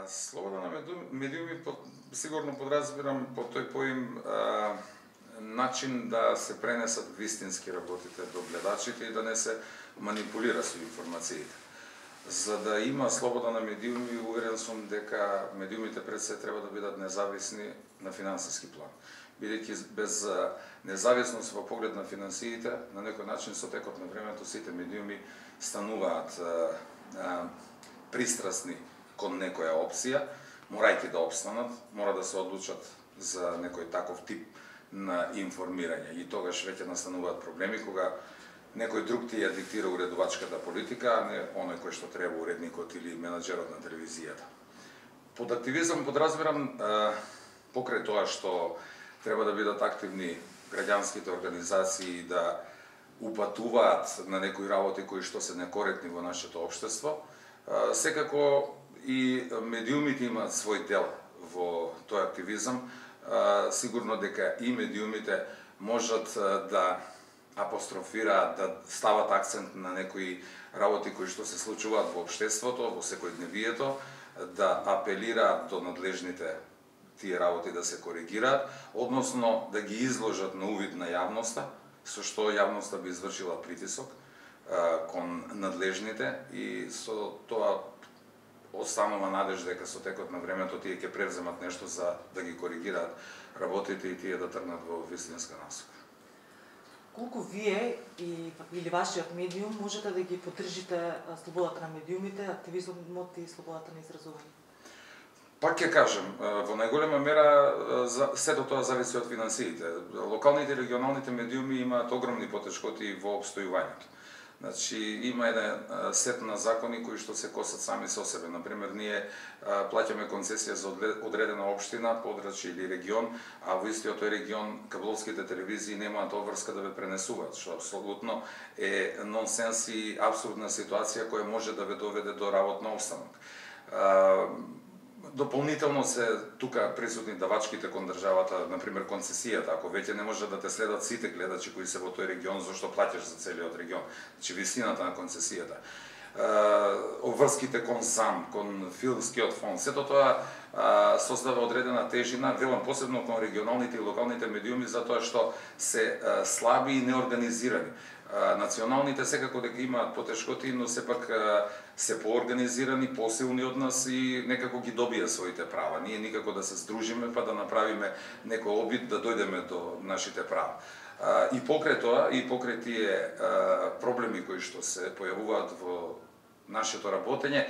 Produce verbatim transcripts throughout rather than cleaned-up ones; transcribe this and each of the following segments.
Слобода на медиуми сигурно подразбирам по тој поим а, начин да се пренесат вистински работите до гледачите и да не се манипулира со информациите. За да има слобода на медиуми, уверен сум дека медиумите пред се треба да бидат независни на финансиски план. Бидејќи без независност во поглед на финансиите, на некој начин со текот на времето сите медиуми стануваат а, а, пристрасни кон некоја опција, морајќи да опстанат, мора да се одлучат за некој таков тип на информирање. И тогаш веќе настануваат проблеми кога некој друг ти ја диктира уредувачката политика, а не оној кој што треба уредникот или менаџерот на телевизијата. Под активизам подразбирам покрај тоа што треба да бидат активни граѓанските организации да упатуваат на некои работи кои што се некоректни во нашето општество, секако и медиумите имаат свој дел во тој активизам. Сигурно дека и медиумите можат да апострофираат, да стават акцент на некои работи кои што се случуваат во општеството, во секојдневието, да апелираат до надлежните тие работи да се коригираат, односно да ги изложат на увид на јавноста, со што јавноста би извршила притисок кон надлежните и со тоа останува надеж дека со текот на времето тие ќе превземат нешто за да ги коригираат работите и тие да тргнат во вистинска насока. Колку вие и, или вашиот медиум можете да ги поддржите слободата на медиумите, активизмот и слободата на изразување? Пак ќе кажем, во најголема мера сето тоа зависи од финансиите. Локалните и регионалните медиуми имаат огромни потешкоти во опстојувањето. Значи, има еден сет на закони кои што се косат сами со себе. Например, ние плаќаме концесија за одредена општина, подрачје или регион, а во истиот тој регион кабловските телевизии немаат обврска да ве пренесуваат, што апсолутно е нонсенс и апсурдна ситуација која може да ве доведе до работно обстанок. Дополнително се тука присутни давачките кон државата, например концесијата, ако веќе не може да те следат сите гледачи кои се во тој регион, зашто плаќаш за целиот регион, значи висината на концесијата. Обврските кон САМ, кон филмскиот фонд, сето тоа создава одредена тежина, велам посебно кон регионалните и локалните медиуми, затоа што се слаби и неорганизирани. Националните секако дека имаат потешкоти, но сепак се поорганизирани, посилни од нас и некако ги добија своите права. Ние никако да се здружиме па да направиме некој обид да дојдеме до нашите права. И покрај тоа, и покрај тие проблеми кои што се појавуваат во нашето работење,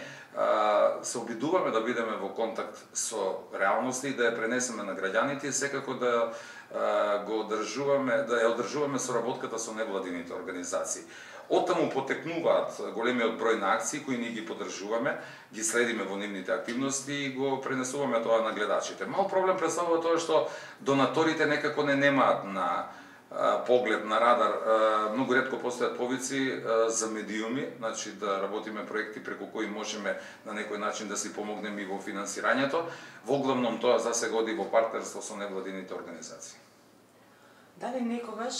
се обидуваме да бидеме во контакт со реалноста и да ја пренесеме на граѓаните и секако да го одржуваме, да ја одржуваме соработката со невладините организации. Оттаму потекнуваат големиот број на акции кои ние ги поддржуваме, ги следиме во нивните активности и го пренесуваме тоа на гледачите. Мал проблем представува тоа што донаторите некако не немаат на поглед на радар, многу ретко постојат повици за медиуми, значи да работиме проекти преку кои можеме на некој начин да си помогнеме и во финансирањето. Во главном тоа за се годи во партнерство со невладините организации. Дали некогаш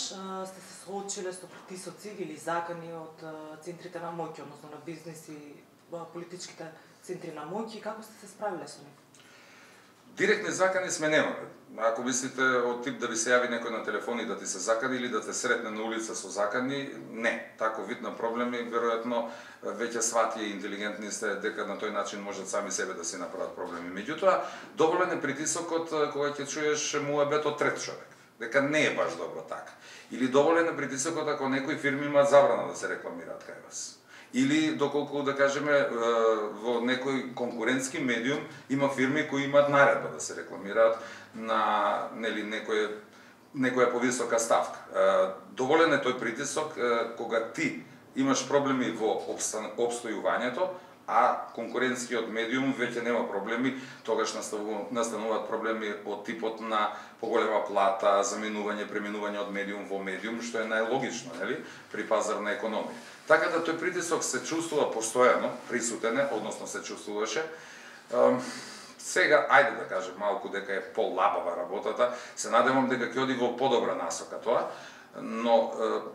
сте се соочиле со притисоци или закани од центрите на моќ, односно на бизнис и политичките центри на моќ и како сте се справиле со нив? Директни закани сме немале. Ако мислите од тип да ви се јави некој на телефон и да ти се закани или да те сретне на улица со закани, не. Таков вид на проблеми, веројатно, веќе свати и интелигентни сте дека на тој начин можат сами себе да си направат проблеми. Меѓутоа, доволен е притисокот кога ќе чуеш муабет од трет човек, дека не е баш добро така. Или доволен е притисокот ако некои фирми имаат забрана да се рекламираат кај вас. Или доколку да кажеме во некој конкурентски медиум има фирми кои имаат наредба да се рекламираат на нели некој некоја повисока ставка. Доволен е тој притисок кога ти имаш проблеми во опстојувањето, а конкурентскиот медиум веќе нема проблеми, тогаш настануваат проблеми од типот на поголема плата, заменување, преминување од медиум во медиум, што е најлогично, нели, при пазарна економија. Така да тој притисок се чувствува постојано, присутен е, односно се чувствуваше. Сега, ајде да кажем малку дека е полабава работата, се надевам дека ќе оди во подобра насока тоа, но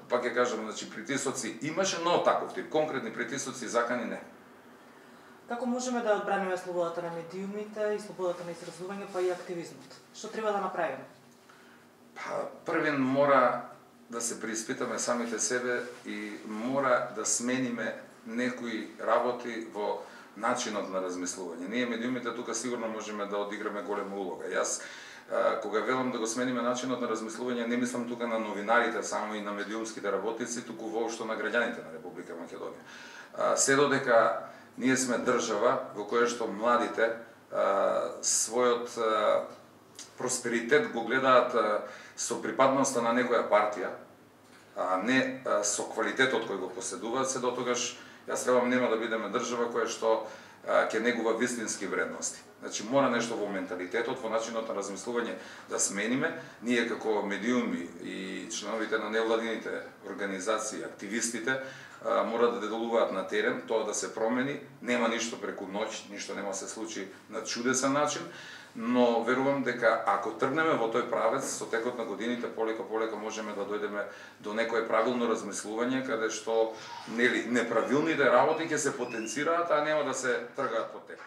пак ќе кажам, значи притисоци имаше, но таков тип конкретни притисоци и закани не. Како можеме да одбраниме слободата на медиумите и слободата на изразување, па и активизмот? Што треба да направиме? Па, првен мора да се преиспитаме самите себе и мора да смениме некои работи во начинот на размислување. Ние медиумите тука сигурно можеме да одиграме голема улога. Јас а, кога велам да го смениме начинот на размислување, не мислам тука на новинарите, само и на медиумските работници, туку воопшто на граѓаните на Република Македонија. А, се додека ние сме држава во која што младите а, својот а, просперитет го гледаат а, со припадноста на некоја партија, а не а, со квалитетот кој го поседуваат, се дотогаш јас требам нема да бидеме држава која што а, ќе негува вистински вредности. Значи мора нешто во менталитетот, во начинот на размислување да смениме. Ние како медиуми и членовите на невладините организации, активистите, а, мора да делуваат на терен, тоа да се промени. Нема ништо преку ноќ, ништо нема се случи на чудесен начин, но верувам дека ако тргнеме во тој правец, со текот на годините полека полека можеме да дојдеме до некое правилно размислување, каде што нели неправилните работи ќе се потенцираат, а нема да се тргаат по тек.